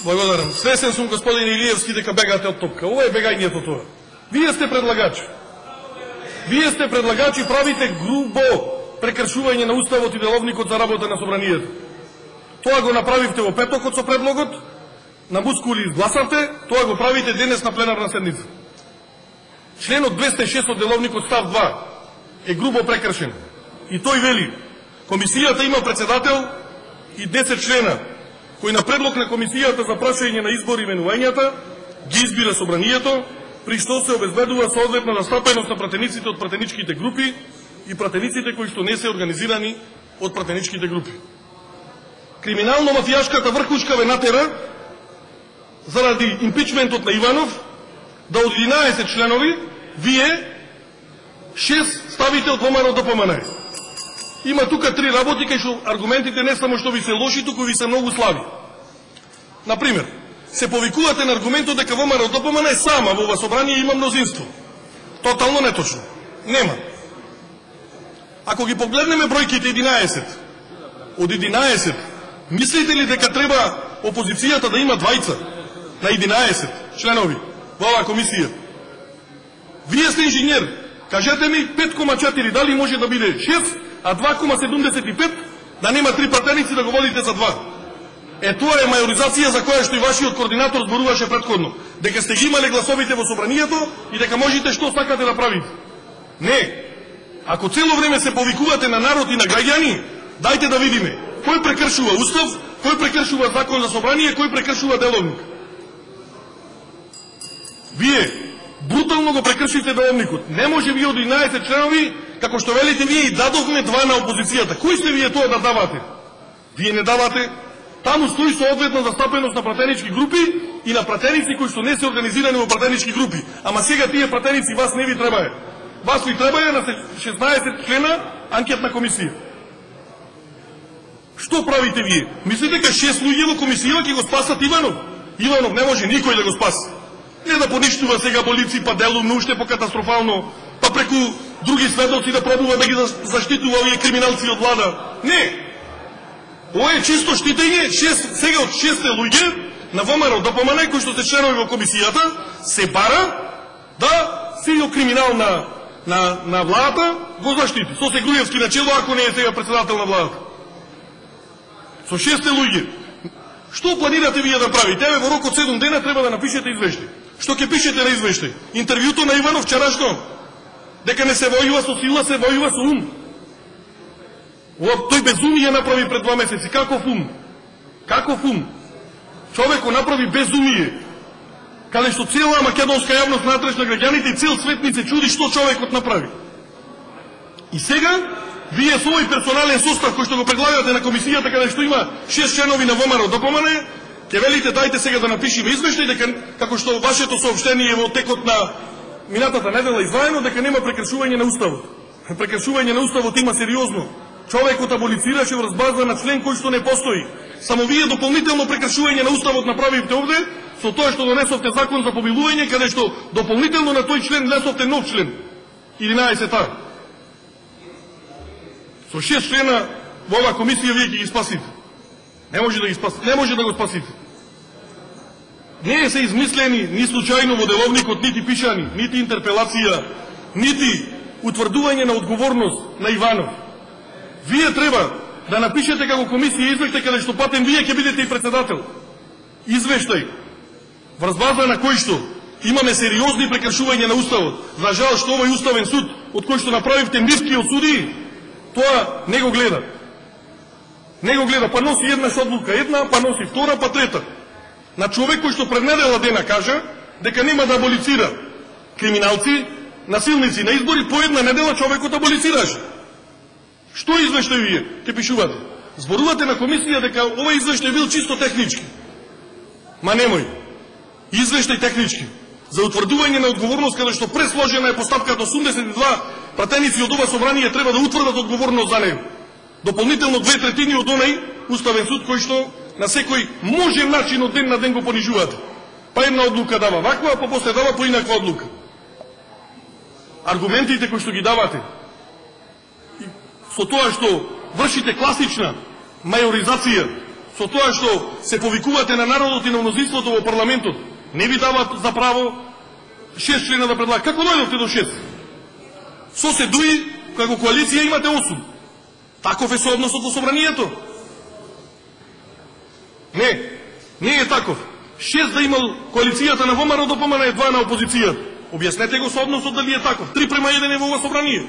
Благодарам. Свесен сум, господин Илиевски, дека бегате од топка. Ова е бегањето тоа. Вие сте предлагачи. Вие сте предлагачи, правите грубо прекршување на уставот и деловникот за работа на собранието. Тоа го направивте во петокот со предлогот, на мускули изгласавте, тоа го правите денес на пленарна седница. Членот 206 од деловникот став 2 е грубо прекршен. И тој вели, комисијата има председател и 10 члена, кој на предлог на комисијата за прашање на избори и именувањата ги избира собранието, при што се обезбедува соодветна застапеност на пратениците од пратеничките групи и пратениците кои што не се организирани од пратеничките групи. Криминално-мафијашката врхушка ве натера заради импичментот на Иванов да од 11 членови вие 6 ставите од ВМРО ДПМН. Има тука 3 работи кај што аргументите не само што ви се лоши, туку ви се многу слаби. Например, се повикувате на аргументот дека ВМРО ДПМН е сама во ова собрание има мнозинство. Тотално неточно. Нема. Ако ги погледнеме бројките 11, од 11, мислите ли дека треба опозицијата да има двајца на 11 членови во оваа комисија? Вие сте инженер. Кажете ми 5,4 дали може да биде 6, а 2,75 да нема 3 пратеници да го водите за 2. Тоа е мајоризација за која што и вашиот координатор зборуваше претходно. Дека сте ги имале гласовите во собранието и дека можете што сакате да правите. Не. Ако цело време се повикувате на народ и на граѓани, дајте да видиме кој прекршува устав, кој прекршува закон за собрание, кој прекршува деловник. Вие брутално го прекршите деловникот. Не може вие од 11 членови, како што велите вие, и дадовме 2 на опозицијата. Кои сте вие тоа да давате? Вие не давате. Таму стои соодветна застапеност на пратенички групи и на пратеници кои што не се организирани во пратенички групи. Ама сега тие пратеници вас не ви требае. Вас ви требае на 16 члена анкетна комисија. Што правите вие? Мислите дека 6 луѓе во комисија ќе го спасат Иванов? Иванов не може никој да го спаси. Не да поништува сега болици, па делумно, уште по-катастрофално, па преку други сведоци да пробува да ги заштитува овие криминалци од влада. Не! Ова е чисто штитење, сега од 6 луѓе на ВМРО ДПМН, кои што се членови во комисијата, се бара да силно криминал на владата го заштити. Со се Груевски начело, ако не е сега председател на владата. Со 6 луѓе. Што планирате вие да правите? Еве во рок од 7 дена треба да напишете извештај. Што ќе пишете на извештај? Интервјуто на Иванов вчерашно. Дека не се војува со сила, се војува со ум. Тој безумие направи пред 2 месеци. Каков ум? Каков ум? Човек го направи безумие. Каде што цела македонска јавност натреш на граѓаните и цел свет ни се чуди што човекот направи. И сега, вие со овој персонален состав кој што го предлагате на комисијата, каде што има 6 членови на ВМРО ДПМН, ќе велите дајте сега да напишеме извештај дека како што вашето соопштение во текот на минатата недела изваено дека нема прекршување на уставот. Прекршување на уставот има сериозно. Човекот аболицираше врз база на член кој што не постои. Само вие дополнително прекршување на уставот направивте овде со тоа што донесовте закон за помилување, каде што дополнително на тој член внесовте нов член 11А. Со 6 члена во оваа комисија вие ќе ги спасите. Не може да ги спасите. Не може да го спасите. Не се измислени ни случајно во деловникот нити пишани, нити интерпелација, нити утврдување на одговорност на Иванов. Вие треба да напишете како комисија извештај каде што патен вие ќе бидете и председател. Извештај врз база на кој што имаме сериозни прекршувања на уставот. За жал што овој уставен суд од кој што направивте нивкиот судии, тоа не го гледа. Не го гледа, па носи еднаш одлука една, па носи втора, па трета. На човек кој што пред недела дена кажа дека нема да аболицира криминалци, насилници на избори, по една недела човекот аболицираше. Што извештај вие ќе пишувате? Зборувате на комисија дека овој извештај бил чисто технички. Ма немој. Извештај технички. За утврдување на одговорност, каде што пресложена е постапката 82 пратеници од ова собрание треба да утврдат одговорност за него. Дополнително 2/3 од онај уставен суд кој што на секој можен начин од ден на ден го понижувате. Па една одлука дава ваква, па после дава по инаква одлука. Аргументите кои што ги давате, со тоа што вршите класична мајоризација со тоа што се повикувате на народот и на мнозинството во парламентот, не ви дават за право 6 члена да предлага. Како дојдовте до 6? Со се дуи, како коалиција имате 8. Таков е соодносот во собранието. Не е таков. 6 да имал коалицијата на ВМРО, ДПМН е 2 на опозицијата. Објаснете го соодносот дали е таков. 3:1 е во ова собрание.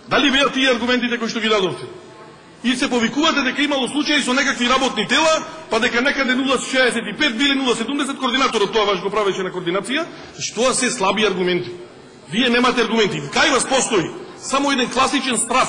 Дали беа тие аргументите кои што ги дадовте? И се повикувате дека имало случаи со некакви работни тела, па дека некаде 0,65 били 0,70, координаторот тоа ваш го правеше на координација, што се слаби аргументи. Вие немате аргументи. Кај вас постои само еден класичен страв,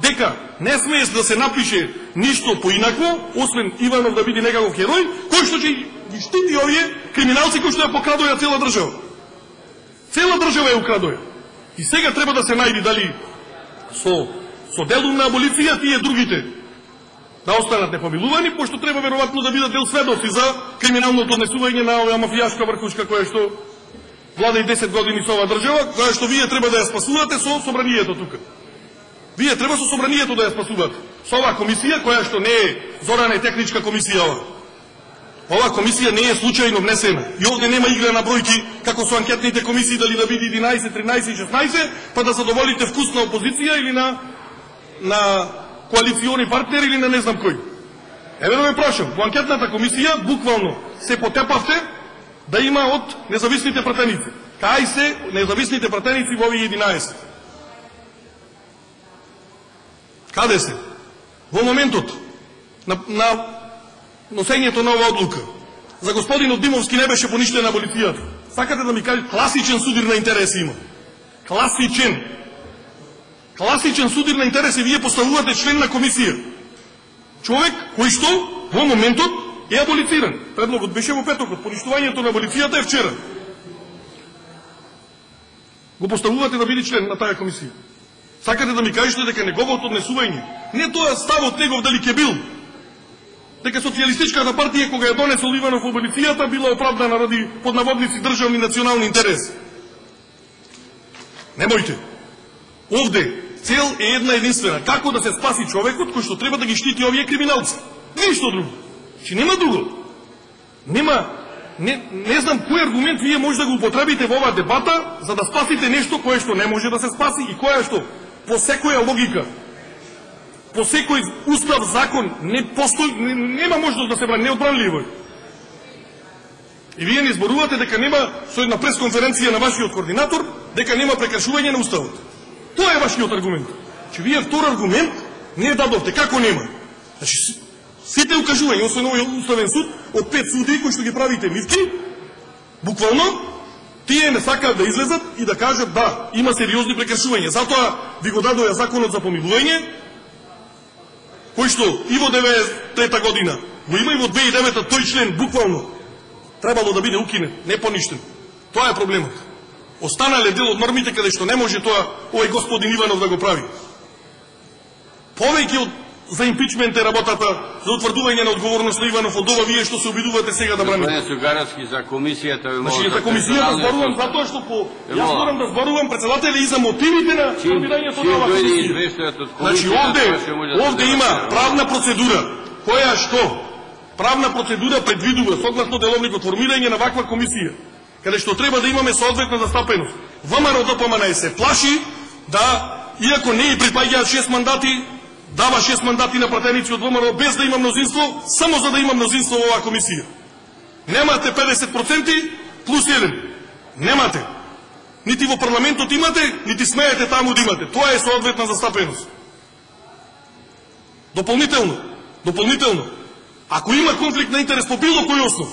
дека не смее да се напише ништо поинакво, освен Иванов да биде некаков херој, кој што ќе ги штити овие криминалци кои што ја покрадоја цела држава. Цела држава ја украдоја. И сега треба да се најди дали со делум на аболиција тие другите да останат непомилувани, пошто треба веројатно да бидат дел сведоци за криминалното однесување на оваа мафијашка врхушка која што влада и 10 години со оваа држава, која што вие треба да ја спасувате со собранието тука. Вие треба со собранието да ја спасувате. Со оваа комисија, која што не е зорана и техничка комисија ова. Оваа комисија не е случајно внесена. И овде нема игра на бројки, како со анкетните комисии, дали да биде 11, 13 и 16, па да задоволите вкус на опозиција или на коалициони партнери или на не знам кој. Еве да ме прашам, во анкетната комисија буквално се потепавте да има од независните пратеници. Кај се независните пратеници во овие 11? Каде се? Во моментот на носењето на оваа одлука. За господинот Димовски не беше поништена аболицијата. Сакате да ми кажете, класичен судир на интереси има. Класичен судир на интереси, вие поставувате член на комисија. Човек кој што во моментот е аболициран. Предлогот беше во петокот, поништувањето на аболицијата е вчера. Го поставувате да биде член на таа комисија. Сакате да ми кажете дека неговото однесување, не тоа ставот негов дали ќе бил, дека социјалистичката партија кога ја донесол Иванов аболицијата била оправдана ради под наводници државни национални интереси. Немојте. Овде цел е една единствена. Како да се спаси човекот кој што треба да ги штити овие криминалци. Ништо друго. Че нема друго. Не знам кој аргумент вие може да го употребите во оваа дебата за да спасите нешто кое што не може да се спаси и кое што по секоја логика, по секој устав, закон, не постои, нема можност да се брани, неодбранливо. И вие не зборувате дека нема, со една пресконференција на вашиот координатор, дека нема прекршување на уставот. Тоа е вашиот аргумент. Че вие втор аргумент не дадовте. Како нема? Значи, сите укажувања, освен овој уставен суд, од 5 суди кои што ги правите мивки, буквално, тие не сакаат да излезат и да кажат да, има сериозни прекршувања. Затоа ви го дадоја законот за помилување, кој што и во 93 година го има и во 2009 тој член буквално требало да биде укинет, не поништен. Тоа е проблемот. Останале дел од нормите каде што не може тоа овој господин Иванов да го прави. Повеќе од за импичмент е работата за утврдување на одговорност на Иванов од ова вие што се обидувате сега да браните. Господин Сугаровски, за комисијата ви значи, за комисијата зборувам затоа што јас морам да зборувам председател и за мотивите на формирањето на оваа комисија. Значи овде има правна процедура која што правна процедура предвидува согласно деловникот формирање на ваква комисија, каде што треба да имаме соодветна застапеност. ВМРО ДПМН се плаши да, иако не и припаѓаат 6 мандати, дава 6 мандати на пратеници од ВМРО без да има мнозинство, само за да има мнозинство во оваа комисија. Немате 50% плюс 1. Немате. Нити во парламентот имате, нити смеете таму да имате. Тоа е соодветна застапеност. Дополнително, ако има конфликт на интерес по било кој основ,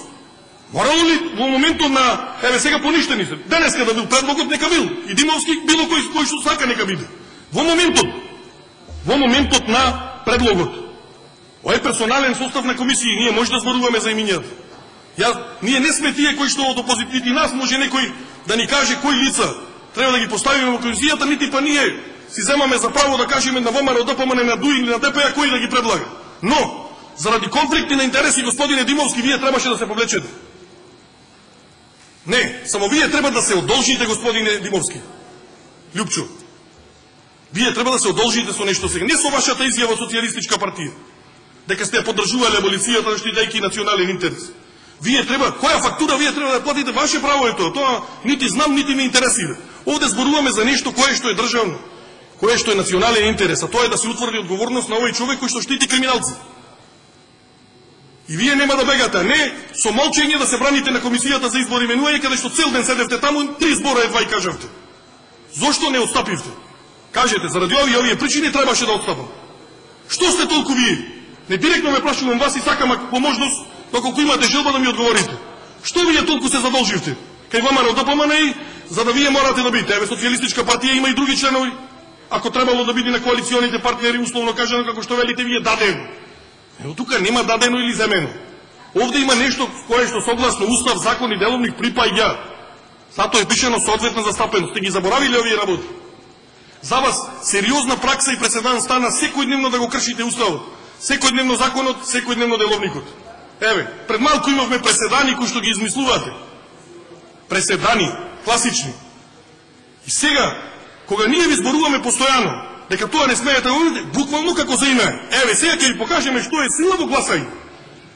морало ли во моментот на, еве сега поништени се, денеска да бил предлогот, нека бил. И Димовски, било кој што сака, нека биде. Во моментот на предлогот. Ој персонален состав на комисија, ние може да зборуваме за имињата. Ние не сме тие кои што од опозитивни нас може некој да ни каже кои лица треба да ги поставиме во комисијата, нити па ние си земаме за право да кажеме на ВМРО, ДПМН, на ДУИ или на ДПА кои да ги предлага. Но, заради конфликти на интереси, господине Димовски, вие требаше да се повлечете. Не, само вие треба да се одолжите, господине Димовски. Лјупчо. Вие треба да се одолжите со нешто сега. Не со вашата изјава социјалистичка партија. дека сте поддржувале аболицијата штитејќи национален интерес. Вие треба, која фактура вие треба да платите, ваше право е тоа. Тоа нити знам, нити ме интересира. Овде зборуваме за нешто кое што е државно, кое што е национален интерес, а тоа е да се утврди одговорност на овој човек кој што штити криминалци. И вие нема да бегате, не со молчење да се браните на комисијата за избори именување, каде што цел ден седевте таму, 3 збора едва и кажавте. Зошто не отстапивте? Кажете, заради овие причини требаше да отстапам. Што сте толку вие? Не директно ме прашувам вас и сакам по можност, доколку имате желба да ми одговорите. Што вие толку се задолживте? Кај ВМРО ДПМН, за да вие морате да бидете. Еве, Социјалистичка партија има и други членови. Ако требало да биде на коалиционите партнери, условно кажано, како што велите вие, дадено. Ево, тука нема дадено или земено. Овде има нешто кое што согласно устав, закон и деловник припаѓа. Затоа е пишено соодветна застапеност. Сте ги заборавиле овие работи. За вас сериозна пракса и преседан стана секојдневно да го кршите уставот. Секојдневно законот, секојдневно деловникот. Еве, пред малку имавме преседани кои што ги измислувате. Преседани, класични. И сега, кога ние ви зборуваме постојано, дека тоа не смеете да го видите, буквално како за име. Еве, сега ќе ви покажеме што е сила во гласање.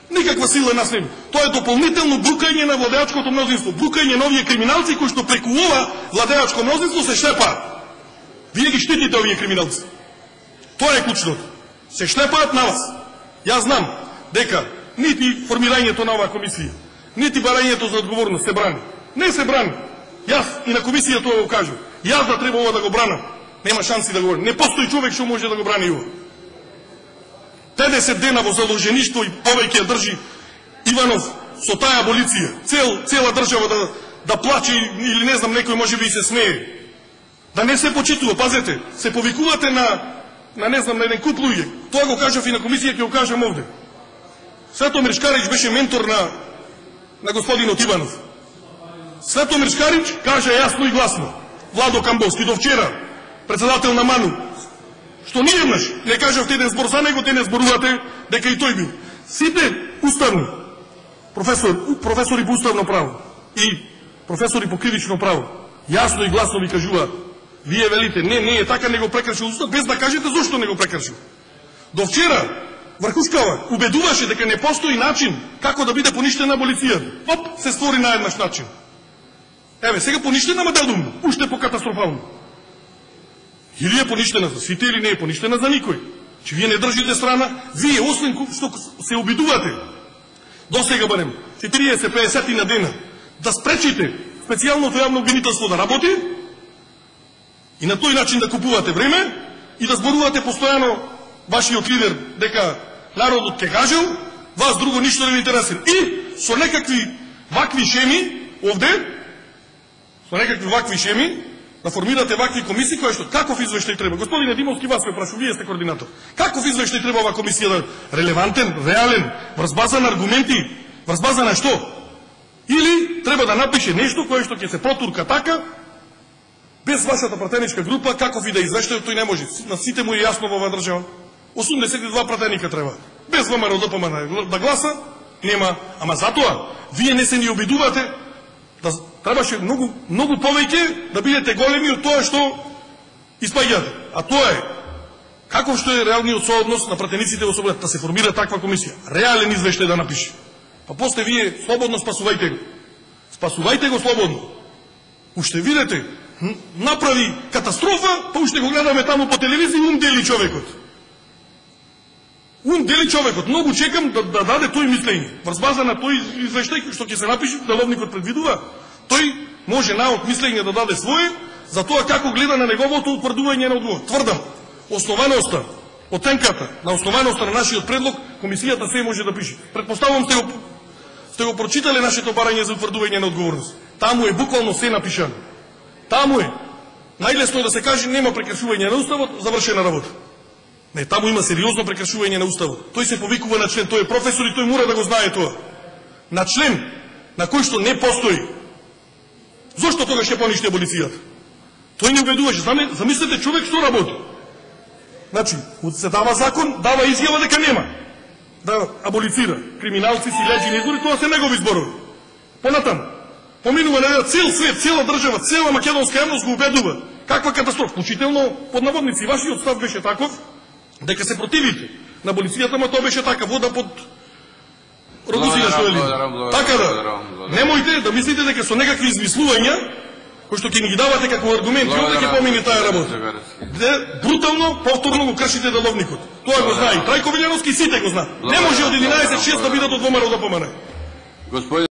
Никаква сила нас нема. Тоа е дополнително брукање на владеачкото мнозинство, брукање на овие криминалци кои што преку ова владеачко мнозинство се шлепаат. Вие ги штитите овие криминалци. Тоа е клучното. Се шлепаат на вас. Јас знам дека нити формирањето на оваа комисија, нити барањето за одговорност се брани. Не се брани. Јас и на комисија тоа го кажам. Јас да треба ова да го бранам. Нема шанси да го брани. Не постои човек што може да го брани ова. 50 дена во заложеништво и повеќе држи Иванов со таа аболиција. Цела држава да плаче или не знам, некој може би и се смее. Да не се почитува, пазете, се повикувате на не знам, на еден куп луѓе. Тоа го кажав и на комисија, ќе го кажам овде. Светомир Шкарич беше ментор на господинот Иванов. Светомир Шкарич кажа јасно и гласно: Владо Камбовски до вчера, председател на МАНУ, што ниеднаш не кажавте еден збор за него, те не зборувате дека и тој бил. Сите уставни професори по уставно право и професори по кривично право јасно и гласно ви кажуваат: вие велите, не е така, не го прекршил устав, без да кажете зошто не го прекршил. До вчера Врхушкава убедуваше дека не постои начин како да биде поништена аболицијата. Оп, се створи на еднаш начин. Еве, сега поништена, ма дадумно, уште по-катастрофално. Или е поништена за сите, или не е поништена за никој. Че вие не држите страна, вие, освен што се обидувате, до сега барем 40-50 на дена, да спречите специјалното јавно обвинителство да работи и на тој начин да купувате време и да зборувате постојано вашиот лидер дека народот ќе кажел, вас друго ништо не ви интересира. И со некакви вакви шеми овде, со некакви вакви шеми, да формирате вакви комисии кои што каков извештај треба. Господине Димовски, вас ме прашу, вие сте координатор. Каков извештај треба оваа комисија да релевантен, реален, врз база на аргументи, врз база на што? Или треба да напише нешто кое што ќе се протурка така, без вашата пратеничка група, каков и да извештај, тој не може. На сите му е јасно во оваа држава. 82 пратеника треба. Без ВМРО ДПМН да гласа, нема. Ама затоа, вие не се ни обидувате, да требаше многу повеќе да бидете големи од тоа што испаѓате. А тоа е, каков што е реалниот сооднос на пратениците во Собранието, да се формира таква комисија. Реален извештај да напише. Па после вие слободно спасувајте го. Спасувајте го слободно. Уште видите, направи катастрофа, па уште го гледаме таму по телевизија, дели човекот. Дели човекот. Многу чекам да даде тој мислење. Врз база на тој извештај што ќе се напише, деловникот предвидува, тој може наод мислење да даде своје за тоа како гледа на неговото утврдување на одговор. Тврдам, основаноста, оценката на основаноста на нашиот предлог, комисијата се може да пише. Предпоставувам сте го прочитале нашето барање за утврдување на одговорност. Таму е буквално се напишано. Таму е. Најлесно е да се каже нема прекршување на уставот, завршена работа. Не, таму има сериозно прекршување на уставот. Тој се повикува на член, тој е професор и тој мора да го знае тоа. На член на кој што не постои. Зошто тогаш ќе поништи аболицијата? Тој не убедуваше. Замислете човек што работи. Значи, се дава закон, дава изјава дека нема да аболицира криминалци, силежи, избори, тоа се негови зборови. Понатаму, поминува на цел свет, цела држава, цела македонска јавност го убедува. Каква катастрофа, вклучително под наводници. Вашиот став беше таков дека се противите на полицијата, ама тоа беше така, вода под родусија што вели. Така да, немојте да мислите дека со некакви измислувања, кои што ќе ни ги давате како аргументи, овде ќе помине таа работа. Брутално, повторно го кршите деловникот. Тоа го знае и Трајко Вилјановски, сите го знаат. Не може од 11-6 да бидат од ВМРО да помане.